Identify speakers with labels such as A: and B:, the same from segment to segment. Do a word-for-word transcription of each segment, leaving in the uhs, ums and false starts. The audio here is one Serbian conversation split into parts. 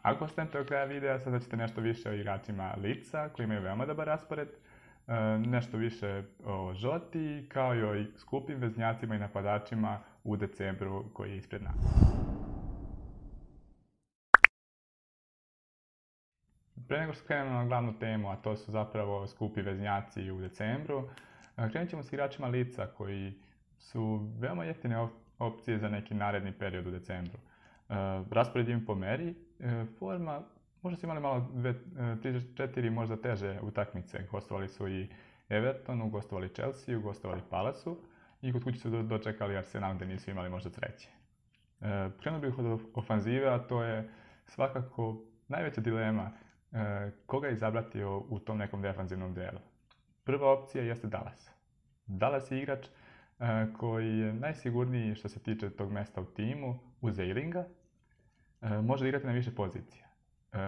A: Ako ostanete do kraja videa, saznaćete nešto više o igračima Leedsa koji imaju veoma dobar raspored, nešto više o Žoti, kao i o skupim veznjacima i napadačima u decembru koji je ispred nas. Pre nego što krenemo na glavnu temu, a to su zapravo skupi veznjaci u decembru, krenut ćemo s igračima Leedsa koji su veoma jeftine opcije za neki naredni period u decembru. Raspored im po meri, forma, možda su imali malo tri četiri možda teže utakmice. Gostovali su i Evertonu, gostovali Chelsea, gostovali Palace-u i kod kuće su dočekali Arsenal gde nisu imali možda sreće. Krenuo bih od ofanzive, a to je svakako najveća dilema koga izabrati u tom nekom defanzivnom delu. Prva opcija jeste Dallas. Dallas je igrač koji je najsigurniji što se tiče tog mesta u timu uz Aylinga. Može igrati na više pozicija.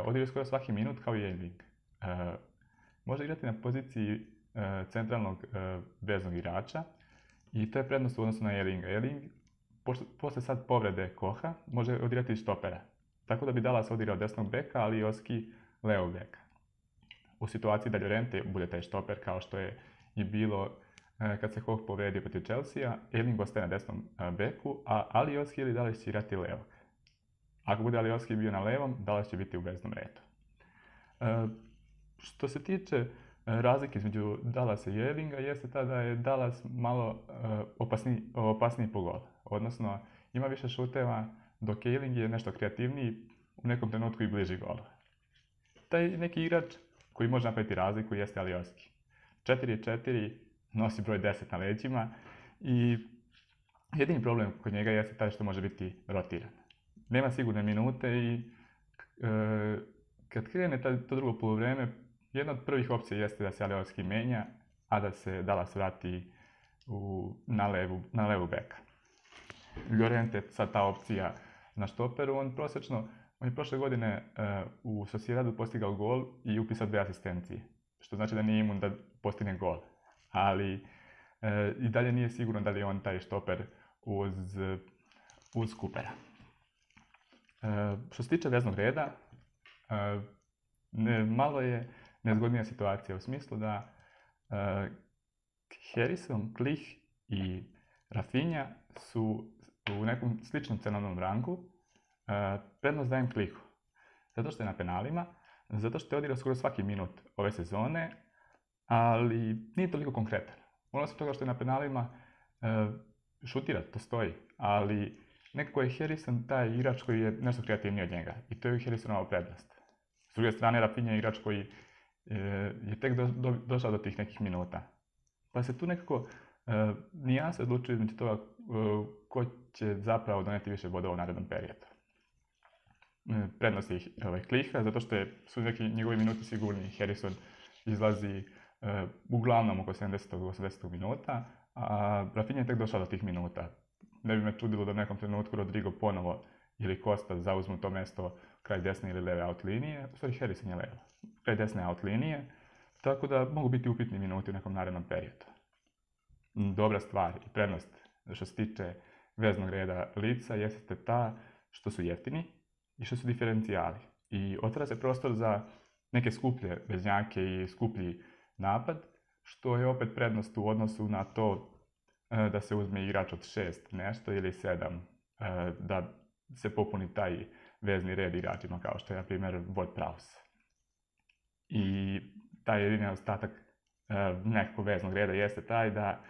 A: Odigra skoro svaki minut kao i Ayling. Može igrati na poziciji centralnog veznog igrača i to je prednost u odnosu na Aylinga. Ayling, posle sad povrede Koha, može odigrati štopera. Tako da bi Dallas odigrao desnog beka, ali i Oski levog beka. U situaciji da Llorente bude taj štoper kao što je i bilo kad se Koh povredio protiv Chelsea-a, Ayling ostaje na desnom beku, a Alioski ili Dallas će igrati levog. Ako bude Alioski bio na levom, Dallas će biti u veznom redu. Što se tiče razlike između Dallasa i Aylinga, jeste ta da je Dallas malo opasniji, opasniji po gol. Odnosno, ima više šuteva, dok Ayling je nešto kreativniji, u nekom trenutku i bliži golu. Taj neki igrač koji može napraviti razliku jeste Alioski. četiri četiri nosi broj deset na leđima i jedini problem kod njega jeste taj što može biti rotiran. Nema sigurne minute i e, kad krene to drugo poluvreme, jedna od prvih opcija jeste da se Alioski menja, a da se Dallas vrati u, na, levu, na levu beka. Llorente sad ta opcija na štoperu, on prosečno, on je prošle godine uh, u Sociedadu postigao gol i upisao dve asistencije, što znači da nije imun da postigne gol, ali uh, i dalje nije sigurno da li je on taj štoper uz, uz Coopera. Uh, što se tiče veznog reda, uh, ne, malo je nezgodnija situacija u smislu da uh, Harrison, Klich i Rafinha su u nekom sličnom cenovnom rangu. Uh, prednost dajem Klihu, zato što je na penalima, zato što je odigrao skoro svaki minut ove sezone, ali nije toliko konkretan. Osim toga što je na penalima, uh, šutira, to stoji, ali nekako je Harrison taj igrač koji je nešto kreativniji od njega i to je Harrisonova prednost. S druge strane, Rafinha je igrač koji uh, je tek do, do, došao do tih nekih minuta. Pa se tu nekako uh, nijanse odlučuju između toga uh, ko će zapravo doneti više bodova u narednom periodu. Prednost je ovaj, Kliha, zato što je, su neki njegovi minuti sigurniji. Harrison izlazi uh, uglavnom oko sedamdeset do osamdeset minuta, a Rafinha je tek došao do tih minuta. Ne bi me čudilo da u nekom trenutku Rodrigo ponovo ili Costa zauzmu to mesto kraj desne ili leve out linije. U stvari Harrison je levo, kraj desne out linije, tako da mogu biti upitni minuti u nekom narednom periodu. Dobra stvar i prednost što se tiče veznog reda Leedsa jeste ta što su jeftini i što su diferencijali. I otvara se prostor za neke skuplje veznjake i skuplji napad, što je opet prednost u odnosu na to da se uzme igrač od šest nešto ili sedam, da se popuni taj vezni red igračima kao što je na primjer Ward-Prowse. I taj jedini ostatak nekog veznog reda jeste taj da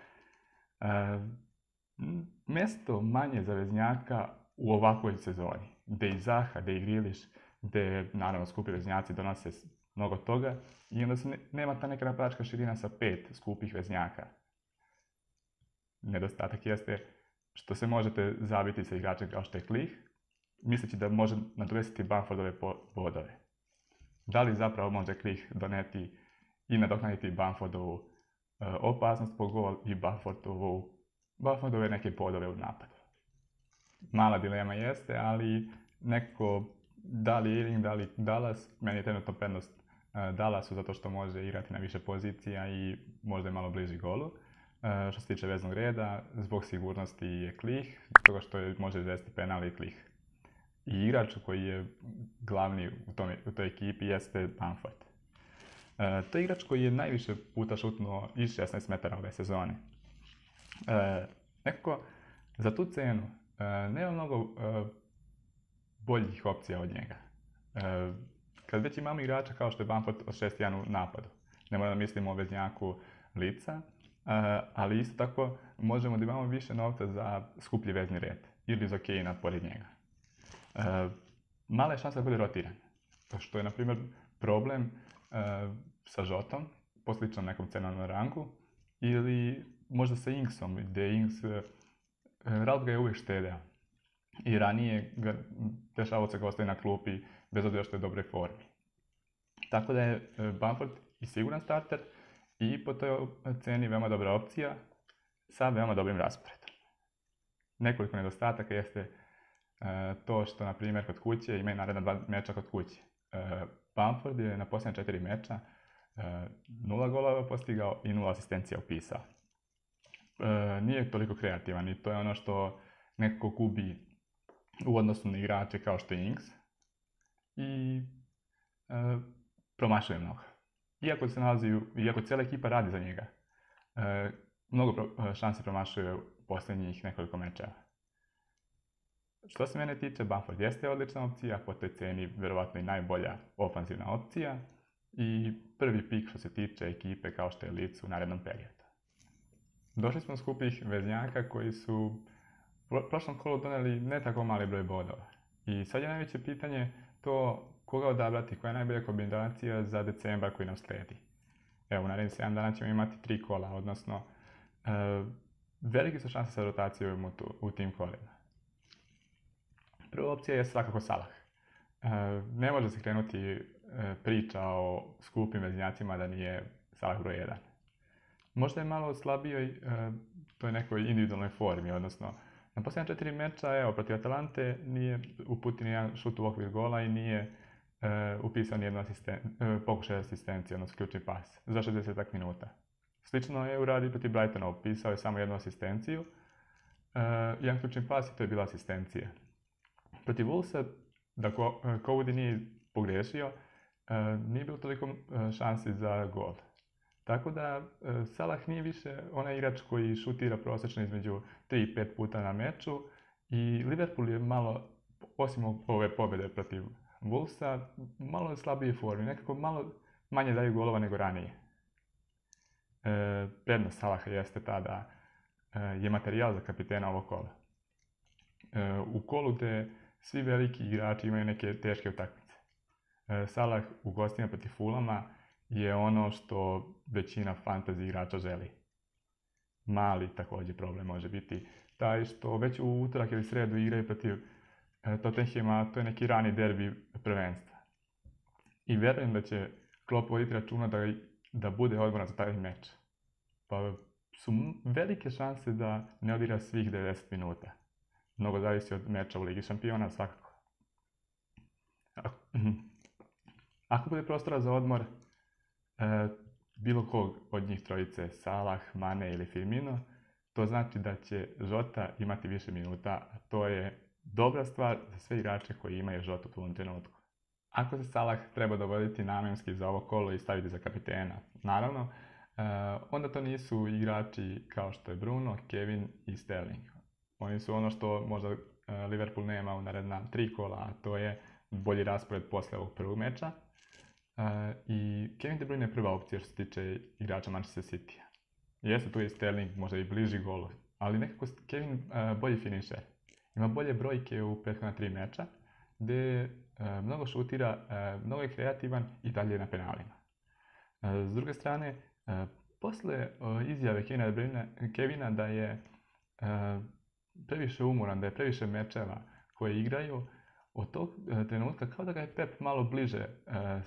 A: mesto manje za veznjaka u ovakvoj sezoni, gde i Zaha, gde i Grealish, gde naravno skupi veznjaci donose mnogo toga i onda se ne, nema ta neka napadačka širina sa pet skupih veznjaka. Nedostatak jeste što se možete zabiti sa igračem kao što je Klich, misleći da može nadomestiti Bamfordove bodove. Da li zapravo može Klich doneti i nadoknaditi Bamfordovu uh, opasnost po gol i Bamfordovu, Bamfordove neke bodove u napadu? Mala dilema jeste, ali nekako da li Ayling, da li Dallas, meni je trenutno prednost uh, Dallasu zato što može igrati na više pozicija i možda je malo bliži golu. Uh, što se tiče veznog reda, zbog sigurnosti je Klich, zbog toga što je, može izvesti penal i Klich. i igrač koji je glavni u, tome, u toj ekipi jeste Bamford. E, to je igrač koji je najviše puta šutnuo iz šesnaest metara ove sezone. E, nekako, za tu cenu e, nema mnogo e, boljih opcija od njega. E, kad već imamo igrača kao što je Bamford od šest jedan u napadu, ne moramo da mislimo o veznjaku lica, e, ali isto tako možemo da imamo više novca za skuplji vezni red ili za Kejna pored njega. E, mala je šansa da bude rotiran, što je na primjer problem e, sa Žotom, po sličnom nekom cenovnom rangu, ili možda sa Inksom, gdje Inks, e, Ralf ga je uvijek štedeo. I ranije ga dešavalo se ga ostaje na klupi bez obzira što je u dobroj formi. Tako da je Bamford i siguran starter i po toj ceni veoma dobra opcija sa veoma dobrim rasporedom. Nekoliko nedostataka jeste e, to što, na primjer, kod kuće imaju naredna dva meča kod kuće. E, Bamford je na posljednja četiri meča e, nula golova postigao i nula asistencija upisao. E, nije toliko kreativan i to je ono što nekako gubi u odnosu na igrače kao što je Inks i e, promašuje mnogo. Iako se nalazi, iako cijela ekipa radi za njega, e, mnogo pro, šanse promašuje u posljednjih nekoliko mečeva. Što se mene tiče, Bamford jeste odlična opcija, po toj ceni vjerovatno i najbolja ofanzivna opcija i prvi pik što se tiče ekipe kao što je Leeds u narednom periodu. Došli smo do skupih veznjaka koji su u prošlom kolu donijeli ne tako mali broj bodova. I sad je najveće pitanje to koga odabrati, koja je najbolja kombinacija za decembar koji nam slijedi. Evo, u narednih sedam dana ćemo imati tri kola, odnosno e, velike su šanse sa rotacijom u, tu, u tim kolima. Prva opcija je svakako Salah. E, ne može se krenuti e, priča o skupim veznjacima da nije Salah broj jedan. Možda je malo slabijoj e, toj nekoj individualnoj formi, odnosno na posljednja četiri meča, evo, protiv Atalante nije uputio nijedan šut u okvir gola i nije e, upisao nijednu asisten, e, pokušaj asistencije, odnosno ključni pas, za šezdeset minuta. Slično je uradio protiv Brightona, upisao je samo jednu asistenciju, e, jedan ključni pas i to je bila asistencija. Protiv Wolvesa, da Cody nije pogriješio, e, nije bilo toliko šansi za gol. Tako da e, Salah nije više onaj igrač koji šutira prosječno između tri i pet puta na meču i Liverpool je malo, osim ove pobjede protiv Wolvesa, malo slabije formi, nekako malo manje daju golova nego ranije. E, prednost Salaha jeste ta da e, je materijal za kapitena ovog kola. E, u kolu gdje svi veliki igrači imaju neke teške utakmice. E, Salah u gostima protiv Fulama je ono što većina fantasy igrača želi. Mali također problem može biti taj što već u utorak ili sredu igraju protiv e, Tottenhama, to je neki rani derbi prvenstva. I vjerujem da će Klopp voditi računa da, da bude odmoran za taj meč. Pa su velike šanse da ne odigra svih devedeset minuta. Mnogo zavisi od meča u Ligi šampiona, svakako. Ako bude prostora za odmor, E, bilo kog od njih trojice, Salah, Mane ili Firmino, to znači da će Žota imati više minuta, a to je dobra stvar za sve igrače koji imaju Žotu u ovom trenutku. Ako se Salah treba dovoditi namenski za ovo kolo i staviti za kapitena, naravno, e, onda to nisu igrači kao što je Bruno, Kevin i Sterling. Oni su ono što možda e, Liverpool nema u naredna tri kola, a to je bolji raspored posle ovog prvog meča. Uh, I Kevin De Bruyne je prva opcija što se tiče igrača Manchester City-a. Jeste tu je Sterling, možda i bliži golu, ali nekako Kevin uh, bolji finisher. Ima bolje brojke u prethodna tri meča, gdje uh, mnogo šutira, uh, mnogo je kreativan i dalje na penalima. Uh, s druge strane, uh, posle uh, izjave Kevina, De Bruyne, Kevina da je uh, previše umoran, da je previše mečeva koje igraju, od tog uh, trenutka kao da ga je Pep malo bliže uh,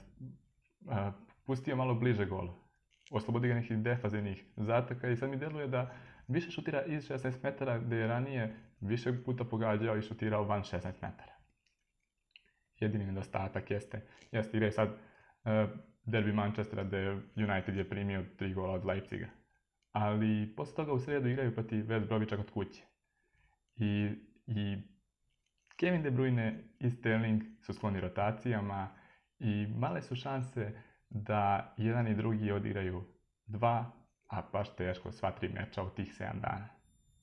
A: Uh, pustio malo bliže golu. Oslobodi ga nekih defazivnih zataka i sad mi deluje da više šutira iz šesnaest metara gdje je ranije više puta pogađao i šutirao van šesnaest metara. Jedini nedostatak jeste, jeste igra sad uh, derbi Manchestera gdje United je primio tri gola od Leipziga. Ali posle toga u sredu igraju protiv West Bromicha kod kuće. I, i Kevin De Bruyne i Sterling su skloni rotacijama i male su šanse da jedan i drugi odigraju dva, a baš teško sva tri meča u tih sedam dana.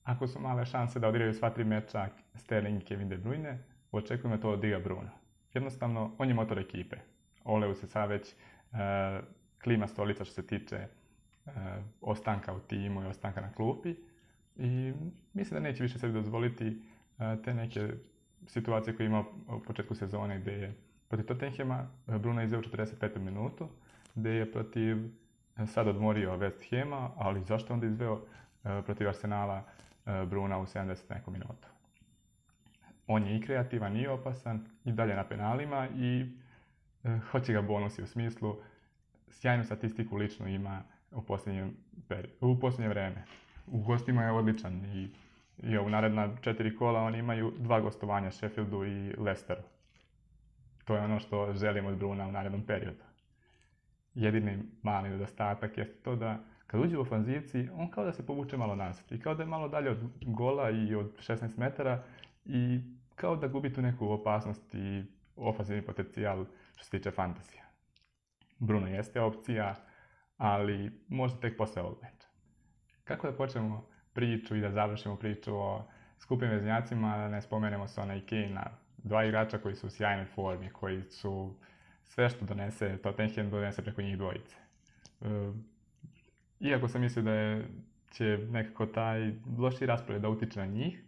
A: Ako su male šanse da odigraju sva tri meča Sterling i Kevin De Bruyne, očekujemo to odigra Bruno. Jednostavno, on je motor ekipe. Oleu se sad već uh, klima stolica što se tiče uh, ostanka u timu i ostanka na klupi i mislim da neće više sebi dozvoliti uh, te neke situacije koje ima u početku sezone gdje je protiv Tottenhama Bruno izveo četrdeset petu minutu, gdje je protiv sad odmorio West Hama, ali zašto onda izveo uh, protiv Arsenala uh, Bruna u sedamdeset neku minutu. On je i kreativan i opasan i dalje na penalima i uh, hoće ga bonusi u smislu sjajnu statistiku lično ima u posljednje, u posljednje vreme. U gostima je odličan i, i u naredna četiri kola oni imaju dva gostovanja Sheffieldu i Leicesteru. To je ono što želimo od Bruna u narednom periodu. Jedini mali nedostatak je to da kad uđe u ofanzivci, on kao da se povuče malo nazad i kao da je malo dalje od gola i od šesnaest metara i kao da gubi tu neku opasnost i ofanzivni potencijal što se tiče fantazija. Bruno jeste opcija, ali možda tek posle ovog meča. Kako da počnemo priču i da završimo priču o skupim veznjacima, da ne spomenemo Sona i Kanea, dva igrača koji su u sjajnoj formi, koji su sve što donese, Tottenham donese preko njih dvojice. E, iako sam mislio da je, će nekako taj loši raspored da utiče na njih,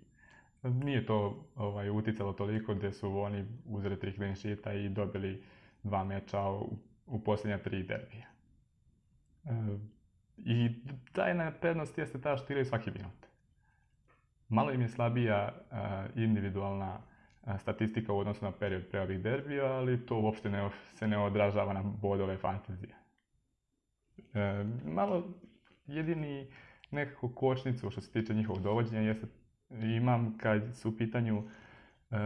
A: nije to ovaj, uticalo toliko gdje su oni uzeli tri clean sheeta i dobili dva meča u, u posljednja tri derbija. E, I tajna prednost jeste ta što igraju svaki minut. Malo im je slabija uh, individualna uh, statistika u odnosu na period pre ovih derbija, ali to uopšte ne, se ne odražava na bodove fantazije. E, malo jedini nekako kočnicu što se tiče njihovog dovođenja jeste, imam kad su u pitanju uh,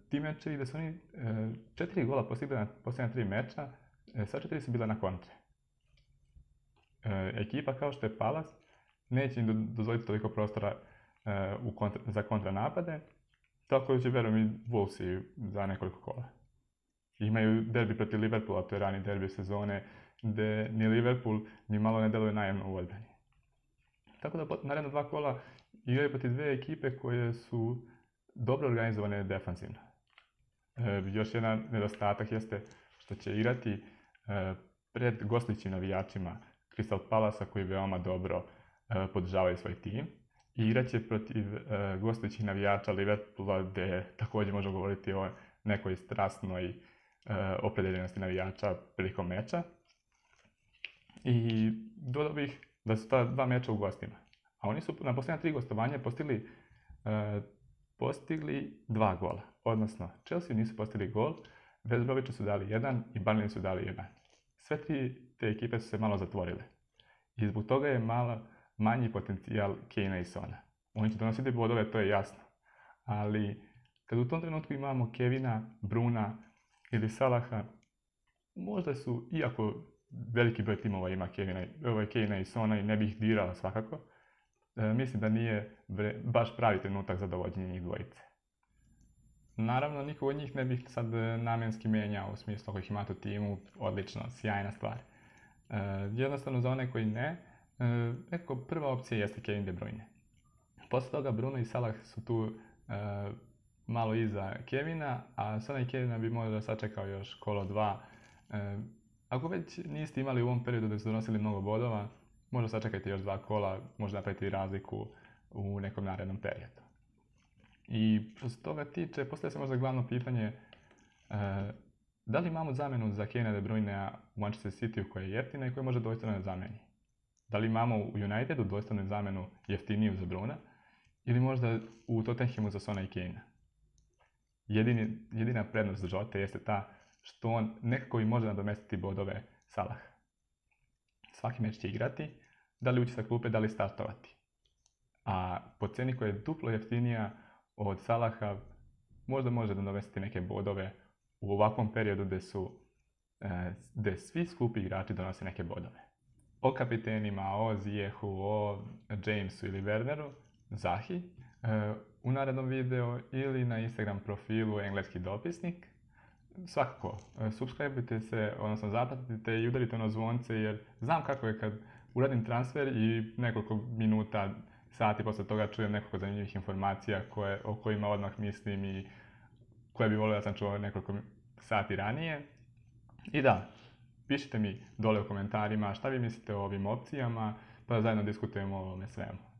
A: ti mečevi da su oni uh, četiri gola postigli na posljednja tri meča, uh, sva četiri su bila na kontre. E, ekipa kao što je Palace neće im dozvoliti toliko prostora e, u kontra, za kontranapade, tako da će verujem i Wolvesi za nekoliko kola. Imaju derbi protiv Liverpoola, to je rani derbi sezone, gdje ni Liverpool ni malo ne deluje najemno u odbrani. Tako da naredna dva kola igraju protiv dve ekipe koje su dobro organizovane defanzivno. E, još jedan nedostatak jeste što će igrati e, pred gostujućim navijačima Crystal Palasa koji veoma dobro uh, podržavaju svoj tim i igraće protiv uh, gostujućih navijača Liverpoola gdje također možemo govoriti o nekoj strasnoj uh, opredeljenosti navijača prilikom meča. I dodao bih da su ta dva meča u gostima. A oni su na posljednja tri gostovanja postigli, uh, postigli dva gola. Odnosno, Chelsea nisu postigli gol, West Bromiću su dali jedan i Burnley su dali jedan. Sve tri te ekipe su se malo zatvorile. I zbog toga je malo manji potencijal Kanea i Sona. Oni će donositi bodove, to je jasno. Ali kad u tom trenutku imamo Kevina, Bruna ili Salaha, možda su, iako veliki broj timova ima Kevina, ovaj, Kanea i Sona i ne bi ih dirala svakako, e, mislim da nije bre, baš pravi trenutak za dovođenje njih dvojice. Naravno, niko od njih ne bih sad namjenski menjao u smislu ako ih imate u timu, odlično, sjajna stvar. Uh, jednostavno za one koji ne, uh, neko prva opcija jeste Kevin De Bruyne. Posle toga Bruno i Salah su tu uh, malo iza Kevina, a Sona i Kevina bi možda sačekao još kolo dva. Uh, ako već niste imali u ovom periodu da su donosili mnogo bodova, možda sačekajte još dva kola, možda napraviti razliku u nekom narednom periodu. I što se toga tiče, postavlja se možda glavno pitanje uh, da li imamo zamenu za Kevina De Bruynea u Manchester City koja je jeftina i koja može dvojstveno ne zameni? Da li imamo u Unitedu dvojstvenu zamenu jeftiniju za Bruna ili možda u Tottenhamu za Sona i Kanea? Jedini, jedina prednost Žote jeste ta što on nekako i može nadomestiti bodove Salah. Svaki meč će igrati, da li ući sa klupe, da li startovati. A po ceni koja je duplo jeftinija od Salaha, možda može nadomestiti neke bodove u ovakvom periodu gdje su gdje svi skupi igrači donose neke bodove. O kapitenima, o Zijehu, o Jamesu ili Werneru, Zahi, u narednom videu ili na Instagram profilu Engleski dopisnik. Svakako, subscribeujte se, odnosno zapratite i udarite ono zvonce jer znam kako je kad uradim transfer i nekoliko minuta, sati posle toga čujem nekoliko zanimljivih informacija koje, o kojima odmah mislim i koje bi volio da sam čuo nekoliko sati ranije. I da, pišite mi dole u komentarima šta vi mislite o ovim opcijama, pa da zajedno diskutujemo o ovome svemu.